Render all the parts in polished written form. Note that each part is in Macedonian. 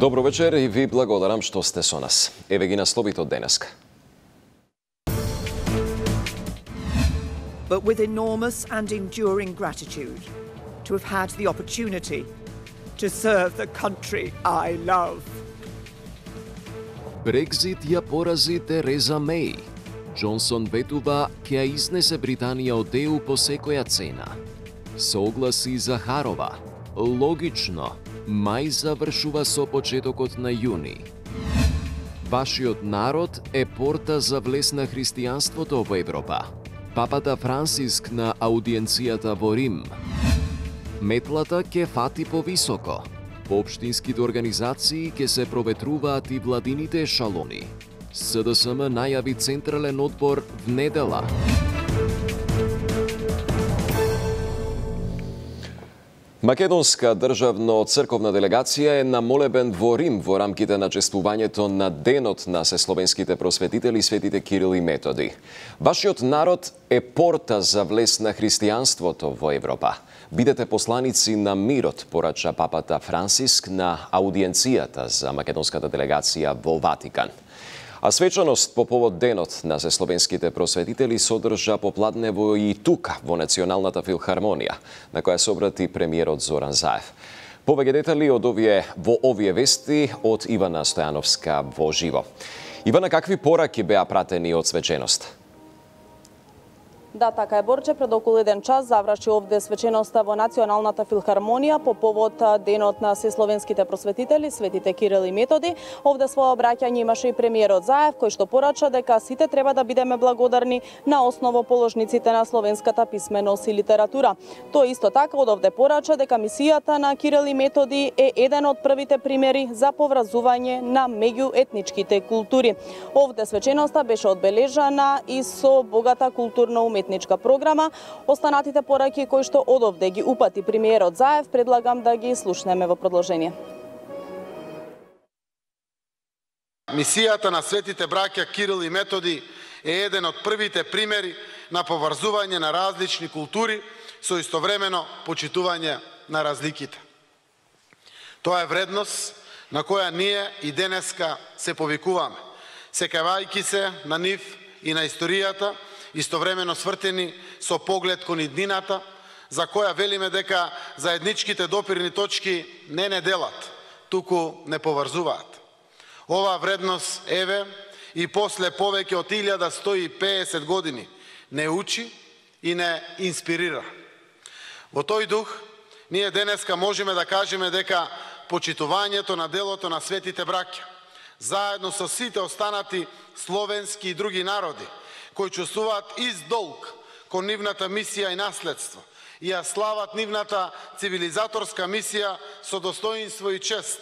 Добро вечер и ви благодарам што сте со нас. Еве ги насловите од денеска. But with enormous and enduring gratitude to have had the opportunity to serve the country I love. Брекзит ја порази Тереза Меј. Џонсон ветува ќе ја изнесе Британија од ЕУ по секоја цена. Согласи Захарова. Логично, мај завршува со почетокот на јуни. Вашиот народ е порта за влез на христијанството во Европа. Папата Франциск на аудиенцијата во Рим. Метлата ќе фати повисоко. По општинските организации ќе се проветруваат и владините ешалони. СДСМ најави централен одбор в недела. Македонска државно-црковна делегација е на молебен во Рим во рамките на чествувањето на Денот на сесловенските просветители светите Кирил и Методи. Вашиот народ е порта за влез на христијанството во Европа. Бидете посланици на мирот, порача папата Франциск на аудиенцијата за македонската делегација во Ватикан. А свечаност по повод Денот на сесловенските просветители содржа попладнево и тука во Националната филхармонија, на која се обрати премиерот Зоран Заев. Повеќе детали во овие вести од Ивана Стојановска во живо. Ивана, какви пораки беа пратени од свеченост? Да, така е, Борче. Пред околу 1 час заврши овде свеченоста во Националната филхармонија по повод Денот на сесловенските просветители, светите Кирил и Методи. Овде своје обраќање имаше и премиерот Заев, кој што порача дека сите треба да бидеме благодарни на основоположниците на словенската писменост и литература. Тој исто така од овде порача дека мисијата на Кирил и Методи е еден од првите примери за поврзување на меѓуетничките култури. Овде свеченоста беше одбележана и со богата културно-уметничка програма. Останатите пораки кои што од овде ги упати премиерот Заев, предлагам да ги слушнеме во продолжение. Мисијата на светите браќа Кирил и Методи е еден од првите примери на поврзување на различни култури со истовремено почитување на разликите. Тоа е вредност на која ние и денеска се повикуваме, секавајќи се на нив и на историјата, истовремено свртени со поглед кон иднината, за која велиме дека заедничките допирни точки не делат, туку не поврзуваат. Оваа вредност еве и после повеќе од 1150 години не учи и не инспирира. Во тој дух, ние денеска можеме да кажеме дека почитувањето на делото на светите браќа, заедно со сите останати словенски и други народи, кои чувствуваат издолг кон нивната мисија и наследство и ја слават нивната цивилизаторска мисија со достоинство и чест.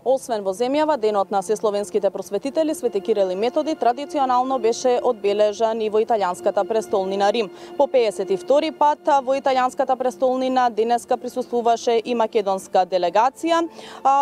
Освен во земјава, Денот на сесловенските просветители свети Кирил и Методи традиционално беше одбележан и во италијанската престолнина Рим. По 52 пат во италијанската престолнина денеска присуствуваше и македонска делегација,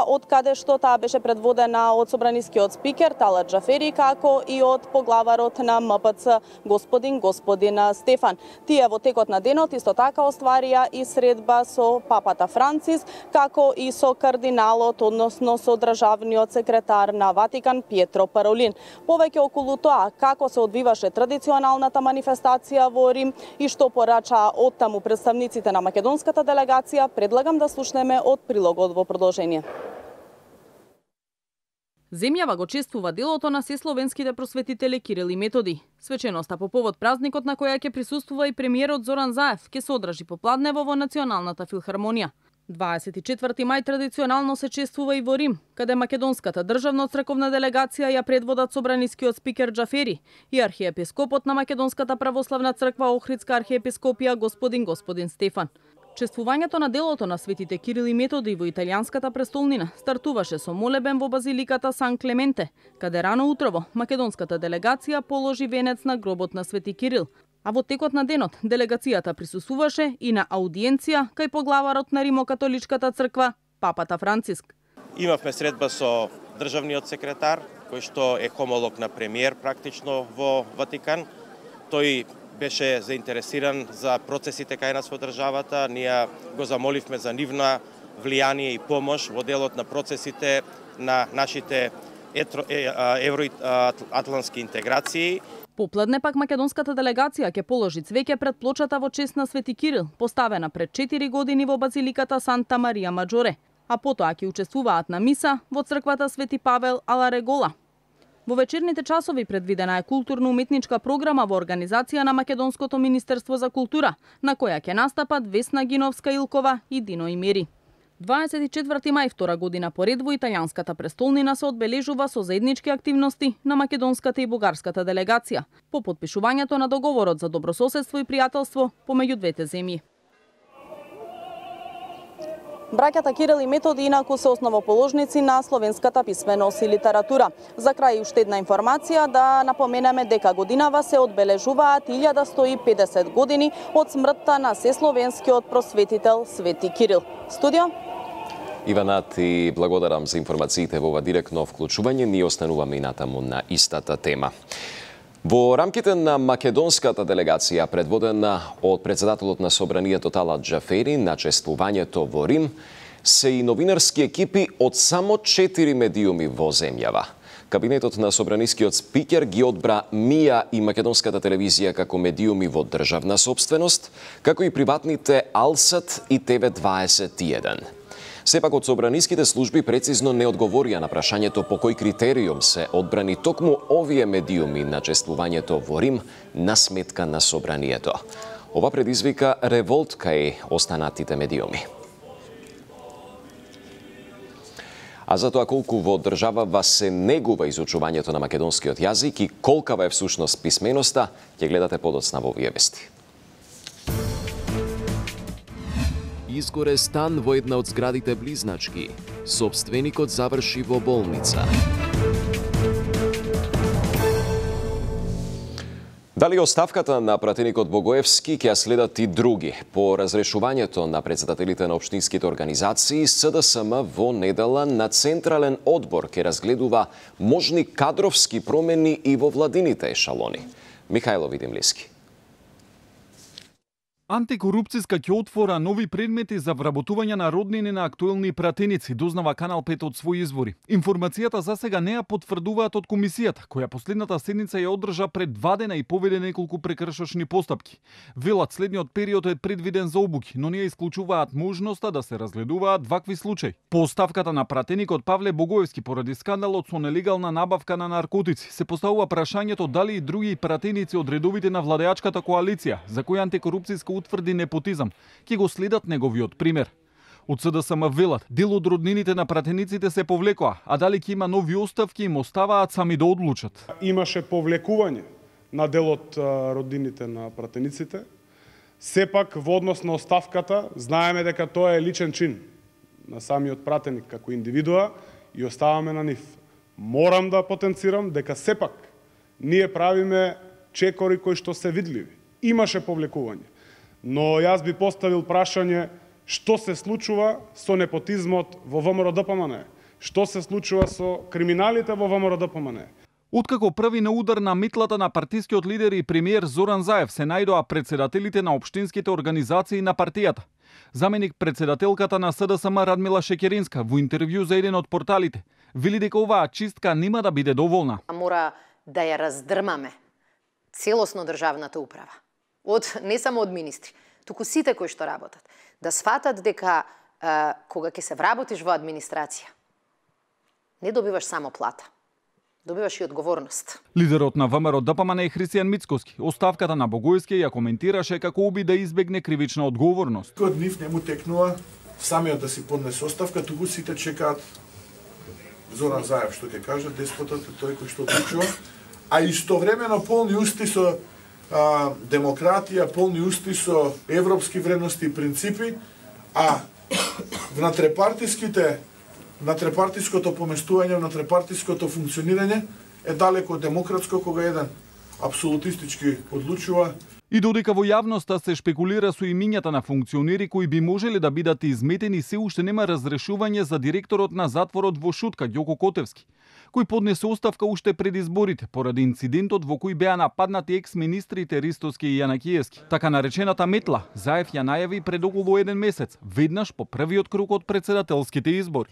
од каде што таа беше предводена од собранискиот спикер Талат Џафери, како и од поглаварот на МПЦ господин Стефан. Тие во текот на денот исто така остварија и средба со папата Франциск, како и со кардиналот, односно со државниот секретар на Ватикан Пиетро Паролин. Повеќе околу тоа како се одвиваше традиционалната манифестација во Рим и што порачаа оттаму представниците на македонската делегација, предлагам да слушнеме од прилогот во продолжение. Земјава го чествува делото на сесловенските просветители Кирил и Методи. Свеченоста по повод празникот на која ќе присуствува и премиерот Зоран Заев ќе се одржи попладнево во Националната филхармонија. 24 мај традиционално се чествува и во Рим, каде македонската државно-црковна делегација ја предводат собранискиот спикер Џафери и архиепископот на Македонската православна црква Охридска архиепископија господин Стефан. Чествувањето на делото на светите Кирил и Методи во италијанската престолнина стартуваше со молебен во базиликата Сан Клементе, каде рано утрово македонската делегација положи венец на гробот на свети Кирил. А во текот на денот делегацијата присуствуваше и на аудиенција кај поглаварот на Римокатоличката црква, папата Франциск. Имавме средба со државниот секретар, кој што е хомолог на премиер практично во Ватикан. Тој беше заинтересиран за процесите кај нас во државата. Ние го замоливме за нивна влијание и помош во делот на процесите на нашите евроатлантски интеграции. Попладне пак македонската делегација ќе положи цвеќе пред плочата во чест на Свети Кирил, поставена пред 4 години во базиликата Санта Марија Маджоре, а потоа ќе учествуваат на миса во црквата Свети Павел ала Регола. Во вечерните часови предвидена е културно-уметничка програма во организација на Македонското Министерство за култура, на која ќе настапат Весна Гиновска-Илкова и Дино Имери. 24 мај втора година поред во италијанската престолнина се одбележува со заеднички активности на македонската и бугарската делегација по потпишувањето на договорот за добрососедство и пријателство помеѓу двете земји. Браќата Кирил и Методи инаку се основоположници на словенската писменост и литература. За крај уште една информација да напоменеме дека годинава се одбележуваат 1150 години од смртта на сесловенскиот просветител Свети Кирил. Студио Ивана, ти благодарам за информациите во ова директно вклучување. Ние остануваме и натаму на истата тема. Во рамките на македонската делегација, предводена од председателот на Собранието Талат Џафери, на чествувањето во Рим, се и новинарски екипи од само 4 медиуми во земјава. Кабинетот на собранискиот спикер ги одбра МИА и македонската телевизија како медиуми во државна сопственост, како и приватните Алсат и ТВ21. Сепак од собраниските служби прецизно не одговорија на прашањето по кој критериум се одбрани токму овие медиуми на чествувањето во Рим на сметка на собранието. Ова предизвика револт кај останатите медиуми. А за тоа колку во државава се негува изучувањето на македонскиот јазик и колкава е всушност писменоста, ќе гледате подоцна во овие вести. Изгоре стан во една од зградите близначки. Сопственикот заврши во болница. Дали оставката на пратеникот Богоевски ќе следат и други? По разрешувањето на председателите на општинските организации, СДСМ во недела на Централен одбор ќе разгледува можни кадровски промени и во владините ешалони. Михајло Видимлиски. Антикорупцијска ќе отвора нови предмети за вработување на роднини на актуелни пратеници, дознава Канал 5 од своји извори. Информацијата за сега не ја потврдуваат од комисијата, која последната седница ја одржа пред 2 дена и поведе неколку прекршочни постапки. Велат следниот период е предвиден за обуки, но не ја исклучуваат можноста да се разгледуваат вакви случаи. По оставката на пратеникот Павле Богоевски поради скандалот со нелегална набавка на наркотици, се поставува прашањето дали и други пратеници од редовите на владеачката коалиција, за која антикорупцијска утврди непотизам, ќе го следат неговиот пример. Од СДСМ велат, дел од роднините на пратениците се повлекоа, а дали ќе има нови оставки им оставаат сами да одлучат. Имаше повлекување на дел од роднините на пратениците. Сепак во однос на оставката знаеме дека тоа е личен чин на самиот пратеник како индивидуа и оставаме на нив. Морам да потенцирам дека сепак ние правиме чекори кои што се видливи. Имаше повлекување. Но јас би поставил прашање што се случува со непотизмот во ВМРО-ДПМНЕ? Што се случува со криминалите во ВМРО-ДПМНЕ? Откако први на удар на метлата на партискиот лидер и премиер Зоран Заев се најдоа председателите на општинските организации на партијата. Заменик председателката на СДСМ Радмила Шекеринска во интервју за еден од порталите вели дека оваа чистка нема да биде доволна. Мора да ја раздрмаме целосно државната управа. Не само од министри, туку сите кои што работат, да сфатат дека кога ќе се вработиш во администрација, не добиваш само плата, добиваш и одговорност. Лидерот на ВМРО-ДПМНЕ Христијан Мицкоски оставката на Богоевски ја коментираше како оби да избегне кривична одговорност. Од нив не му текнува самиот да си поднесе оставка, туку сите чекаат Зоран Заев што ќе каже, деспотот е тој кој што одлучува, а истовремено полни усти со демократија, полни усти со европски вредности и принципи, а внатрепартиското поместување, внатрепартиското функционирање е далеко од демократско, кога еден апсолутистички одлучува. И додека во јавноста се шпекулира со имињата на функционери кои би можеле да бидат изметени, се уште нема разрешување за директорот на затворот во Шутка, Ѓоко Котевски, кој поднесе оставка уште пред изборите поради инцидентот во кој беа нападнати екс-министрите Ристоски и Јанакиевски. Така наречената метла, Заев ја најави пред околу 1 месец, веднаш по првиот круг од председателските избори.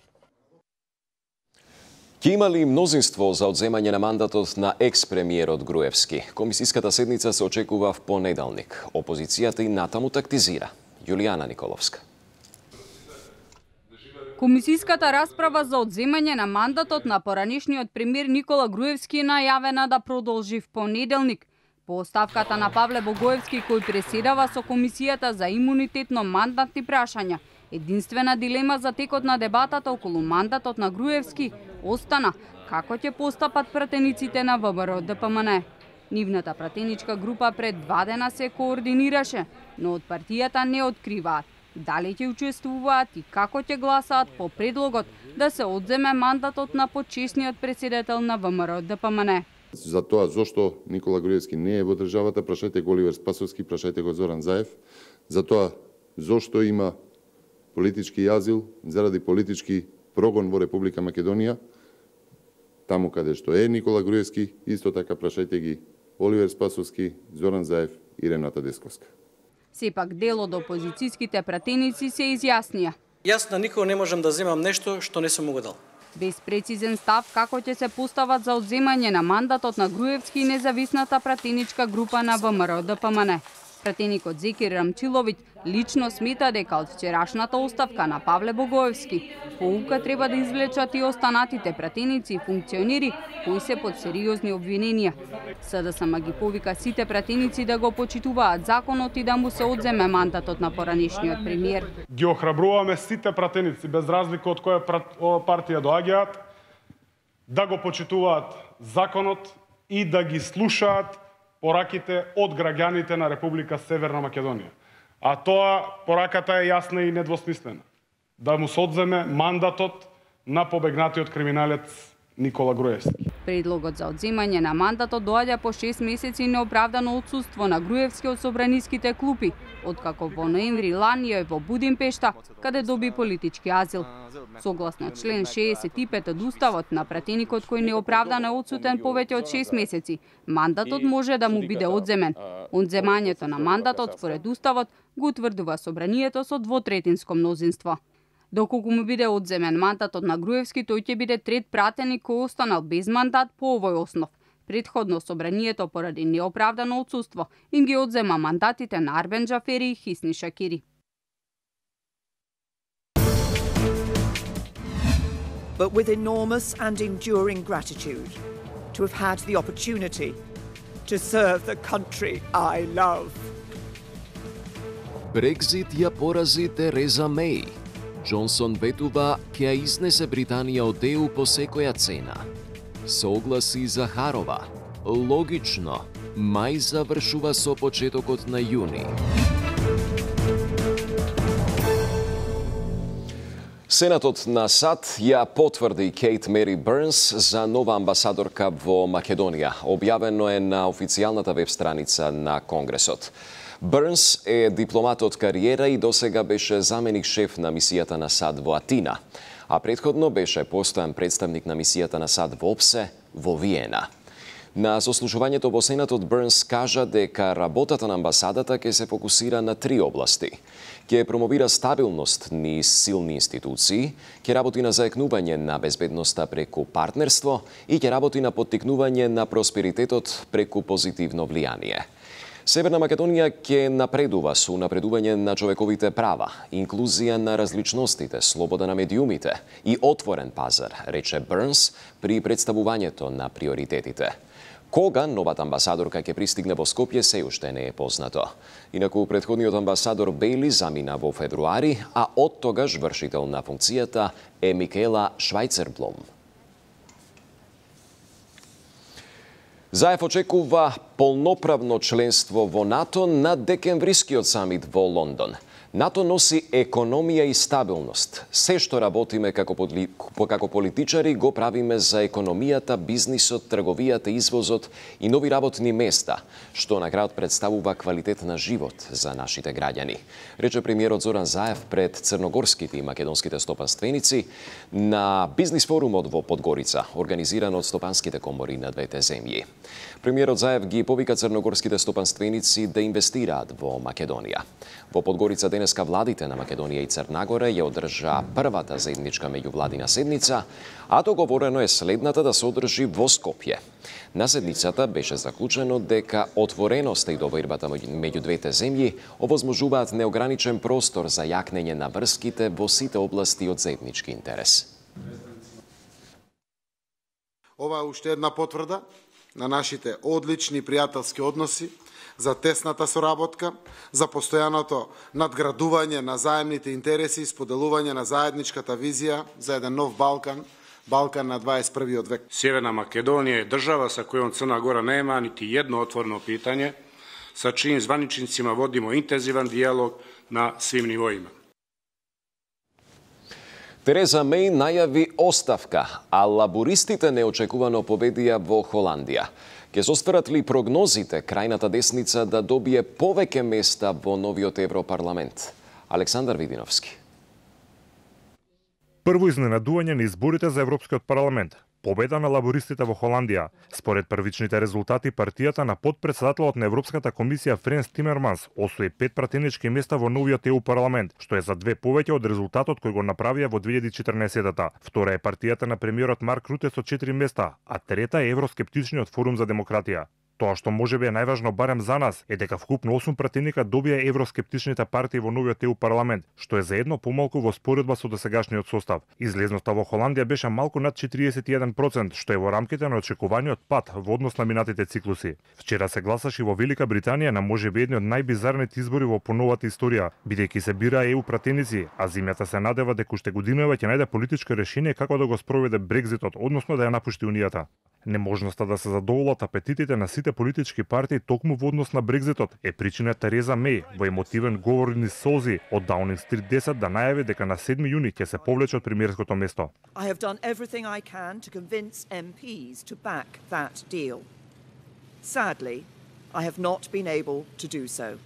Ќе има ли мнозинство за одземање на мандатот на екс-премиерот Груевски? Комисиската седница се очекува в понеделник. Опозицијата и натаму тактизира. Јулијана Николовска. Комисиската расправа за одземање на мандатот на поранешниот премиер Никола Груевски е најавена да продолжи в понеделник. По оставката на Павле Богоевски, кој преседава со Комисијата за имунитетно-мандатни прашања, единствена дилема за текот на дебатата околу мандатот на Груевски остана како ќе постапат пратениците на ВМРО-ДПМН. Нивната пратеничка група пред 2 дена се координираше, но од партијата не откриваат дали ќе учествуваат и како ќе гласаат по предлогот да се одземе мандатот на почесниот председател на ВМРО-ДПМН. За тоа зошто Никола Груевски не е во државата, прашајте го Оливер Спасовски, прашајте го Зоран Заев. За тоа зошто има политички азил заради политички прогон во Република Македонија, таму каде што е Никола Груевски, исто така прашајте ги Оливер Спасовски, Зоран Заев и Рената Десковска. Сепак дел од опозицијските пратеници се изјаснија. Јас на никого не можам да земам нешто што не сум го дал. Без прецизен став како ќе се постават за одземање на мандатот на Груевски и независната пратеничка група на ВМРО-ДПМН. Пратеникот Зекир Рамчиловиќ лично смета дека од вчерашната оставка на Павле Богоевски поука треба да извлечат и останатите пратеници и функционери кои се под сериозни обвиненија. СДСМ ги повика сите пратеници да го почитуваат законот и да му се одземе мандатот на поранешниот премиер. Ги охрабруваме сите пратеници, без разлика од која партија доаѓаат, да го почитуваат законот и да ги слушаат пораките од граѓаните на Република Северна Македонија. А тоа пораката е јасна и недвосмислена. Да му се одземе мандатот на побегнатиот криминалец Никола Груевски. Предлогот за одземање на мандатот доаѓа по 6 месеци неоправдано отсуство на Груевски од собраниските клупи, откако во ноември лани е во Будимпешта, каде доби политички азил. Согласно член 65 од Уставот на пратеникот кој неоправдано е отсутен повеќе од 6 месеци, мандатот може да му биде одземен. Одземањето на мандатот според Уставот го утврдува собранието со двотретинско мнозинство. Доколку му биде одземен мандатот на Груевски, тој ќе биде трет пратеник кој останал без мандат по овој основ. Предходно собранието поради неоправдано отсуство им ги одзема мандатите на Арбен Джафери и Хисни Шакири. But with enormous and enduring gratitude to have had the opportunity to serve the country I love. Брекзит ја порази Тереза Меј. Џонсон ветува ќе ја изнесе Британија од ЕУ по секоја цена. Согласи Захарова. Логично, мај завршува со почетокот на јуни. Сенатот на САД ја потврди Кейт Мери Бернс за нова амбасадорка во Македонија. Објавено е на официјалната веб страница на Конгресот. Бернс е дипломат од кариера и досега беше заменик шеф на мисијата на САД во Атина, а претходно беше постојан представник на мисијата на САД во ОПСЕ во Виена. На сослушувањето во Сенатот Бернс кажа дека работата на амбасадата ќе се фокусира на 3 области. Ќе промовира стабилност низ силни институции, ќе работи на заекнување на безбедноста преку партнерство и ќе работи на поттикнување на просперитетот преку позитивно влијание. Северна Македонија ќе напредува со унапредување на човековите права, инклузија на различностите, слобода на медиумите и отворен пазар, рече Бернс при представувањето на приоритетите. Кога новата амбасадорка ќе пристигне во Скопје се уште не е познато. Инаку претходниот амбасадор Бейли замина во февруари, а од тогаш вршител на функцијата е Микела Швајцерблом. Заев очекува полноправно членство во НАТО на декемврискиот самит во Лондон. НАТО носи економија и стабилност. Се што работиме како политичари го правиме за економијата, бизнисот, трговијата, извозот и нови работни места, што на крајот представува квалитет на живот за нашите граѓани, рече премиерот Зоран Заев пред црногорските и македонските стопанственици на бизнис форумот во Подгорица, организиран од стопанските комори на двете земји. Премиерот Заев ги повика црногорските стопанственици да инвестираат во Македонија. Во Подгорица денеска владите на Македонија и Црна Гора ја одржа првата заедничка меѓувладина седница, а договорено е следната да се одржи во Скопје. На седницата беше заклучено дека отвореноста и довербата меѓу двете земји овозможуваат неограничен простор за јакнење на врските во сите области од заеднички интерес. Ова е уште една потврда на нашите одлични пријателски односи, за тесната соработка, за постојаното надградување на заемните интереси и споделување на заедничката визија за еден нов Балкан, Балкан на 21. век. Северна Македонија е држава со којом Црна Гора нема нити едно отворено питање, со чиим званичницима водимо интензивен диалог на свим нивоима. Тереза Меј најави оставка, а лабористите неочекувано победија во Холандија. Ке состварат ли прогнозите крајната десница да добие повеќе места во новиот Европарламент? Александар Видиновски. Прво изненадување на изборите за Европскиот парламент. Победа на лабористите во Холандија. Според првичните резултати, партијата на подпредседателот на Европската комисија Френс Тимерманс освои 5 пратенички места во новиот ЕУ парламент, што е за 2 повеќе од резултатот кој го направија во 2014-та. Втора е партијата на премиерот Марк Руте со 4 места, а трета е Евроскептичниот форум за демократија. Тоа што можеби е најважно барем за нас е дека вкупно 8 пратеника добија евроскептичните партии во новиот ЕУ парламент, што е за едно помалку во споредба со досегашниот состав. Излезноста во Холандија беше малку над 41%, што е во рамките на очекуваниот пат во однос на минатите циклуси. Вчера се гласаше во Велика Британија на можеби едни од најбизарните избори во поновата историја, бидејќи се бираа ЕУ пратеници, а земјата се надева дека уште годинава ќе најде политичко решение како да го спроведе Брекзитот, односно да ја напушти Унијата. Неможноста да се задоволат апетитите на сите политички партии токму во однос на Брекзитот е причина Тереза Меј во емотивен говор низ солзи од Даунинг Стрит 10 да најави дека на 7 јуни ќе се повлече од премиерското место. I have done everything I can to convince MPs to back that deal. Sadly, I have not been able to do so.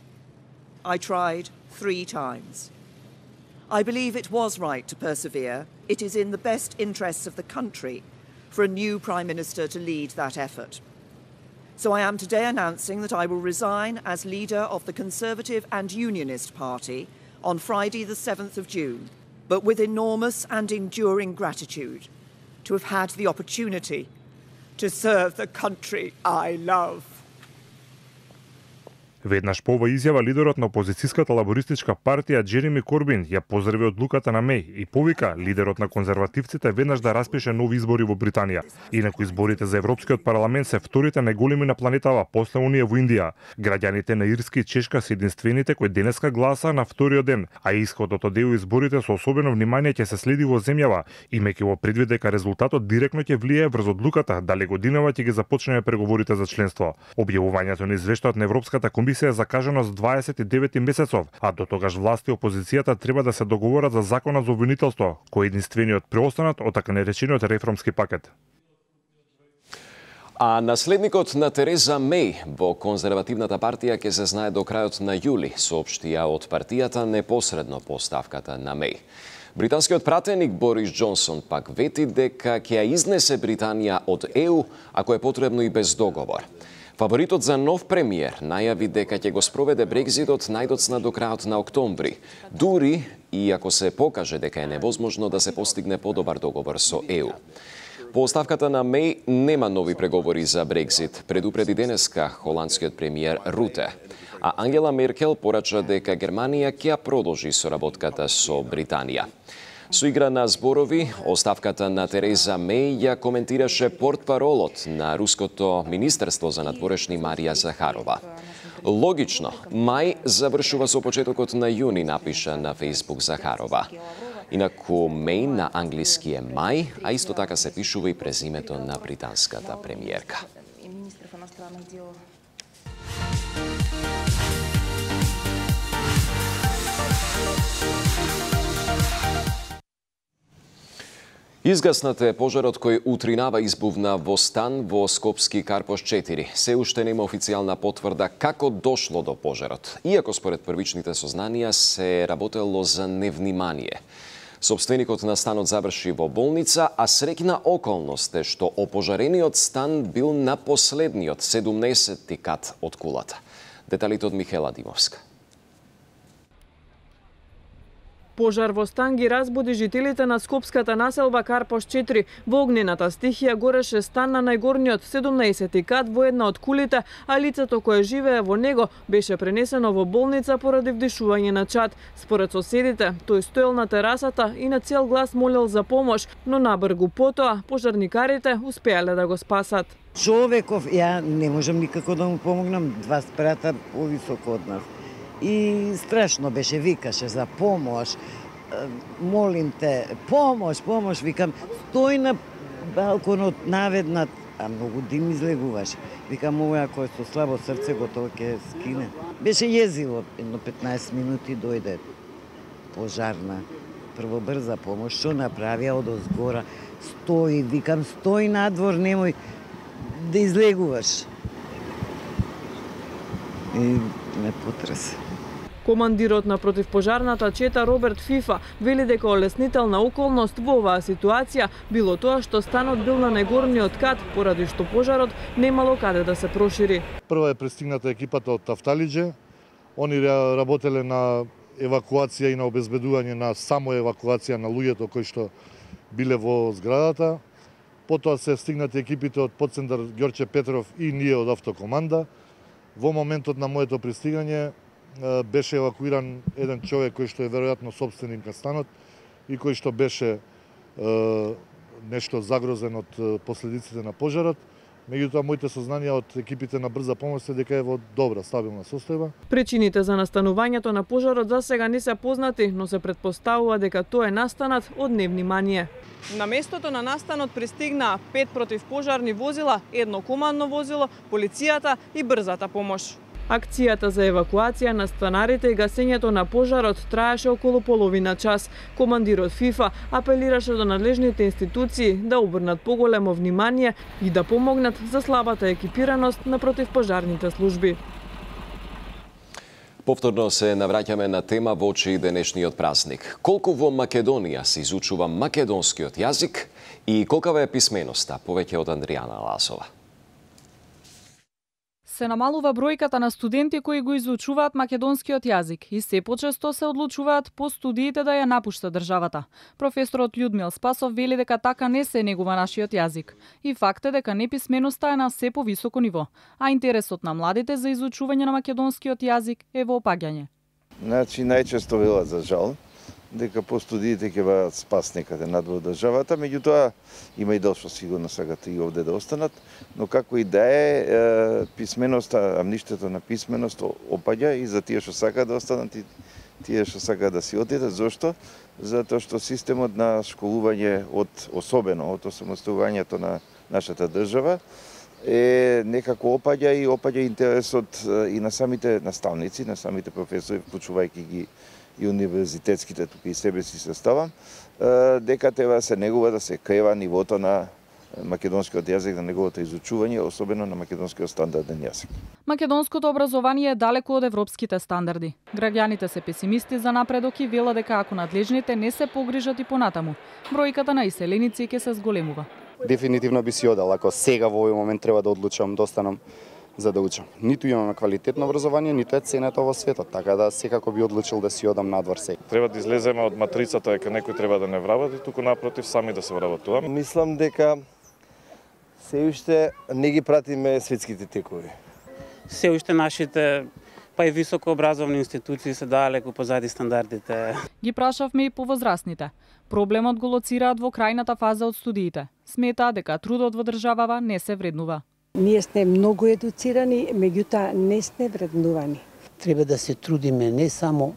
I tried 3 times. I believe it was right to persevere. It is in the best interests of the country for a new Prime Minister to lead that effort. So I am today announcing that I will resign as leader of the Conservative and Unionist Party on Friday the 7th of June, but with enormous and enduring gratitude to have had the opportunity to serve the country I love. Веднаш по ова изјава лидерот на опозицијската лабористичка партија Джереми Корбин ја поздрави одлуката на Меј и повика лидерот на конзервативците веднаш да распише нови избори во Британија. Инаку изборите за Европскиот парламент се вторите најголеми на планетава после оние во Индија. Граѓаните на Ирска и Чешка се единствените кои денеска гласа на вториот ден, а исходот од ЕУ изборите со особено внимание ќе се следи во земјава, имајќи во предвид дека резултатот директно ќе влијае врз одлуката дали годинава ќе ги започнеме преговорите за членство. Објавувањето на извештајот на Европската комисија е закажано за 29 месецов, а до тогаш власти и опозицијата треба да се договорат за законот за обвинителство, кој е единствениот преостанат од така наречениот реформски пакет. А наследникот на Тереза Меј во конзервативната партија ќе се знае до крајот на јули, соопштија од партијата непосредно по ставката на Меј. Британскиот пратеник Борис Џонсон пак вети дека ќе ја изнесе Британија од ЕУ ако е потребно и без договор. Фаворитот за нов премиер најави дека ќе го спроведе Брекзитот најдоцна до крајот на октомври, дури и ако се покаже дека е невозможно да се постигне подобар договор со ЕУ. По оставката на Меј нема нови преговори за Брекзит, предупреди денеска холандскиот премиер Руте. А Ангела Меркел порача дека Германија ќе продолжи соработката со Британија. Со игра на зборови, оставката на Тереза Меј ја коментираше портпаролот на Руското министерство за надворешни Марија Захарова. Логично, мај завршува со почетокот на јуни, напиша на Фејсбук Захарова. Инаку Меј на англиски е мај, а исто така се пишува и презимето на британската премиерка. Изгаснат е пожарот кој утринава избувна во стан во Скопски Карпош 4. Се уште нема официјална потврда како дошло до пожарот, иако според првичните сознанија се работело за невнимание. Сопственикот на станот заврши во болница, а среќна околност е што опожарениот стан бил на последниот 17-ти кат од кулата. Деталите од Михела Димовска. Пожар во стан ги разбуди жителите на скопската населба Карпош 4. Во огнената стихија гореше стан на најгорниот 17-ти кат во една од кулите, а лицето кое живее во него беше пренесено во болница поради вдишување на чад. Според соседите, тој стоел на терасата и на цел глас молел за помош, но набргу потоа пожарникарите успеале да го спасат. Човеков, ја не можам никако да му помогнам, 2 спрата повисоко од нас. И страшно беше, викаше за помош, молим те, помош, викам, стој на балконот наведнат, а многу дим излегуваше. Викам, ова кој со слабо срце готово ќе скине. Беше језиво, едно 15 минути дојде пожарна, прво брза помош, што направија од озгора, стои, викам, стои надвор, немој да излегуваш. И ме потресе. Командирот на противпожарната чета Роберт Фифа вели дека олеснителна околност во оваа ситуација било тоа што станот бил на најгорниот кат, поради што пожарот немало каде да се прошири. Прва е пристигната екипата од Тафталиџе. Они работеле на евакуација и на обезбедување на само евакуација на луѓето кои што биле во зградата. Потоа се стигнати екипите од подцентар Ѓорче Петров и ние од автокоманда. Во моментот на моето пристигање беше евакуиран еден човек кој што е веројатно сопственик на станот и кој што беше нешто загрозен од последиците на пожарот. Меѓутоа, моите сознанија од екипите на брза помош се дека е во добра, стабилна состојба. Причините за настанувањето на пожарот за сега не се познати, но се претпоставува дека тоа е настанат од невнимание. На местото на настанот пристигнаа 5 противпожарни возила, 1 командно возило, полицијата и брзата помош. Акцијата за евакуација на станарите и гасењето на пожарот траеше околу половина час. Командирот ФИФА апелираше до надлежните институции да обрнат поголемо внимание и да помогнат за слабата екипираност на противпожарните служби. Повторно се навраќаме на тема во очи денешниот празник. Колку во Македонија се изучува македонскиот јазик и колкава е писменоста? Повеќе од Андријана Ласова. Се намалува бројката на студенти кои го изучуваат македонскиот јазик и се почесто се одлучуваат по студиите да ја напушта државата. Професорот Људмил Спасов вели дека така не се негува нашиот јазик и факт е дека неписменоста е на се повисоко ниво, а интересот на младите за изучување на македонскиот јазик е во опаѓање. Значи најчесто велат за жал дека по студиите ќе бидат спас некаде надвор државата, меѓутоа има и дел што сигурно сакат и овде да останат, но како и да е, писменоста, амништето на писменост опаѓа и за тие што сакаат да останат и тие што сакаат да си отидат. Зошто? Затоа што системот на школување особено од осамостојувањето на нашата држава е некако опаѓа и опаѓа интересот и на самите наставници, на самите професори, вклучувајќи ги и универзитетските, тука и себе си се ставам, дека треба да се негува, да се крева нивото на македонскиот јазик, на неговото изучување, особено на македонскиот стандарден јазик. Македонското образование е далеко од европските стандарди. Граѓаните се песимисти за напредок и велат дека ако надлежните не се погрижат и понатаму, бројката на иселеници ќе се зголемува. Дефинитивно би си одел, ако сега во овој момент треба да одлучам да останам за да учам. Ниту имаме квалитетно образование, ниту е ценето во светот, така да секако би одлучил да си одам надвор сега. Треба да излеземе од матрицата дека некој треба да не вработи, туку напротив сами да се вработуваме. Мислам дека се уште не ги пратиме светските текови. Се уште нашите па и високообразовни институции се далеку позади стандардите. Ги прашавме и повозрастните. Проблемот го лоцираат во крајната фаза од студиите. Сметаат дека трудот во државава не се вреднува. Ние сме многу едуцирани, меѓутоа не сме вреднувани. Треба да се трудиме не само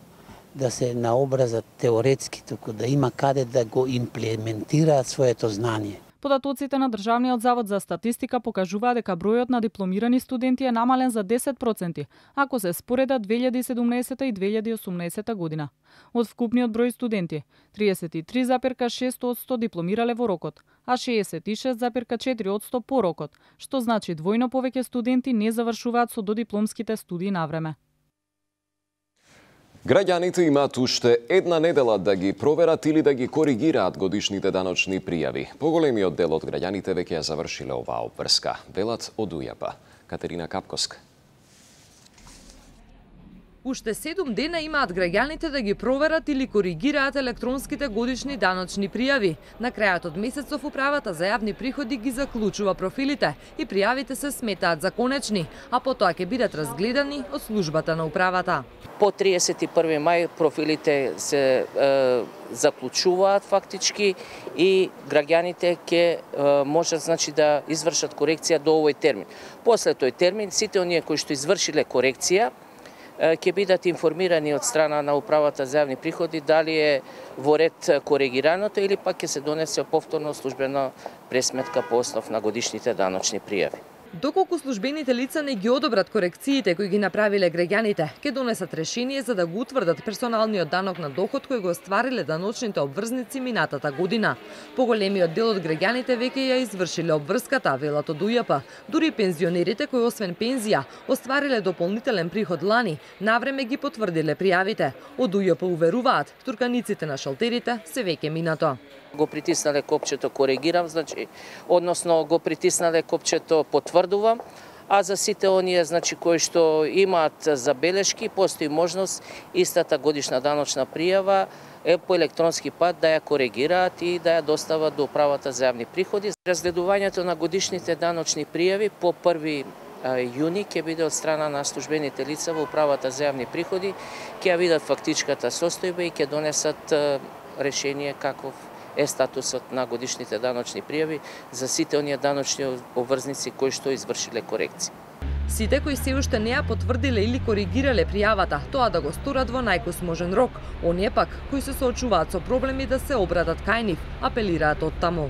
да се наобразат теоретски, туку да има каде да го имплементираат своето знание. Податоците на Државниот завод за статистика покажуваат дека бројот на дипломирани студенти е намален за 10%, ако се споредат 2017 и 2018 година. Од вкупниот број студенти, 33,6% дипломирале во рокот, а 66,4% по рокот, што значи двојно повеќе студенти не завршуваат со додипломските студии навреме. Граѓаните имаат уште една недела да ги проверат или да ги коригираат годишните даночни пријави. Поголемиот дел од граѓаните веќе ја завршиле оваа обврска. Велат од УЈАП. Катерина Капковска. Уште 7 дена имаат граѓаните да ги проверат или коригираат електронските годишни даночни пријави. На крајот од месецов управата за јавни приходи ги заклучува профилите и пријавите се сметаат за конечни, а потоа ќе бидат разгледани од службата на управата. По 31 мај профилите се заклучуваат фактички и граѓаните ќе можат да извршат корекција до овој термин. После тој термин сите оние кои што извршиле корекција ќе бидат информирани од страна на управата за јавни приходи дали е во ред коригираното или пак ќе се донесе повторно службена пресметка по основ на годишните даночни пријави. Доколку службените лица не ги одобрат корекциите кои ги направиле граѓаните, ќе донесат решение за да го утврдат персоналниот данок на доход кој го оствариле даночните обврзници минатата година. Поголемиот дел од граѓаните веќе ја извршиле обврската, велат од УЈАП. Дури пензионерите кои освен пензија оствариле дополнителен приход лани, навреме ги потврдиле пријавите. Од УЈАП уверуваат, турканиците на шалтерите се веќе минато. Го притиснале копчето коригирам, односно го притиснале копчето потврдувам, а за сите оние кои што имаат забелешки, постои можност истата годишна даночна пријава по електронски пат да ја коригираат и да ја достават до управата за јавни приходи. Разгледувањето на годишните даночни пријави по 1 јуни ќе биде од страна на службените лица во управата за јавни приходи, ќе ја видат фактичката состојба и ќе донесат решение каков е статусот на годишните даночни пријави за сите оние даночни обврзници кои што извршиле корекција. Сите кои се уште не ја потврдиле или коригирале пријавата, тоа да го сторат во најкосможен рок. Оние пак кои се соочуваат со проблеми да се обратат кај нив, апелираат од таму.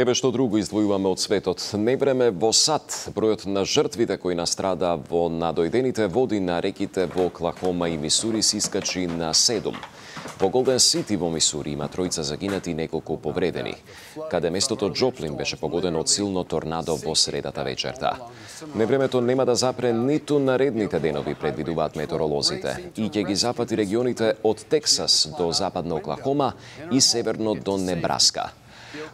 Еве што друго издвојуваме од светот. Невреме во САД. Бројот на жртвите кои настрада во надојдените води на реките во Оклахома и Мисури се искачи на 7. Во Голден Сити во Мисури има 3 загинати и неколку повредени, каде местото Джоплин беше погодено од силно торнадо во средата вечерта. Невремето нема да запре ниту наредните денови, предвидуваат метеоролозите, и ќе ги запати регионите од Тексас до западна Оклахома и северно до Небраска.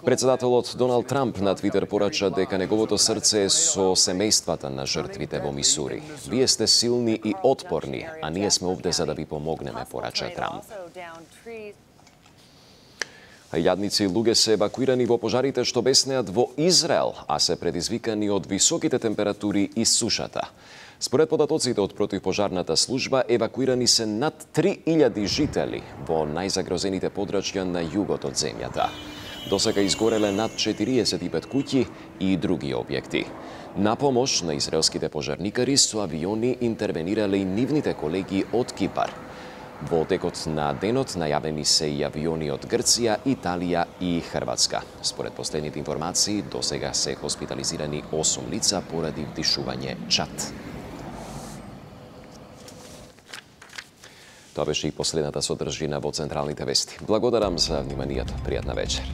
Председателот Доналд Трамп на Твитер порача дека неговото срце е со семејствата на жртвите во Мисури. Вие сте силни и отпорни, а ние сме овде за да ви помогнеме, порача Трамп. Илјадници луѓе се евакуирани во пожарите што беснеат во Израел, а се предизвикани од високите температури и сушата. Според податоците од противпожарната служба, евакуирани се над 3000 жители во најзагрозените подрачја на југот од земјата. Досега изгореле над 45 куќи и други објекти. На помош на израелските пожарникари со авиони интервенирале и нивните колеги од Кипар. Во текот на денот најавени се и авиони од Грција, Италија и Хрватска. Според последните информации, досега се хоспитализирани 8 лица поради вдишување чад. Тоа беше и последната содржина во Централните вести. Благодарам за вниманието. Пријатна вечер.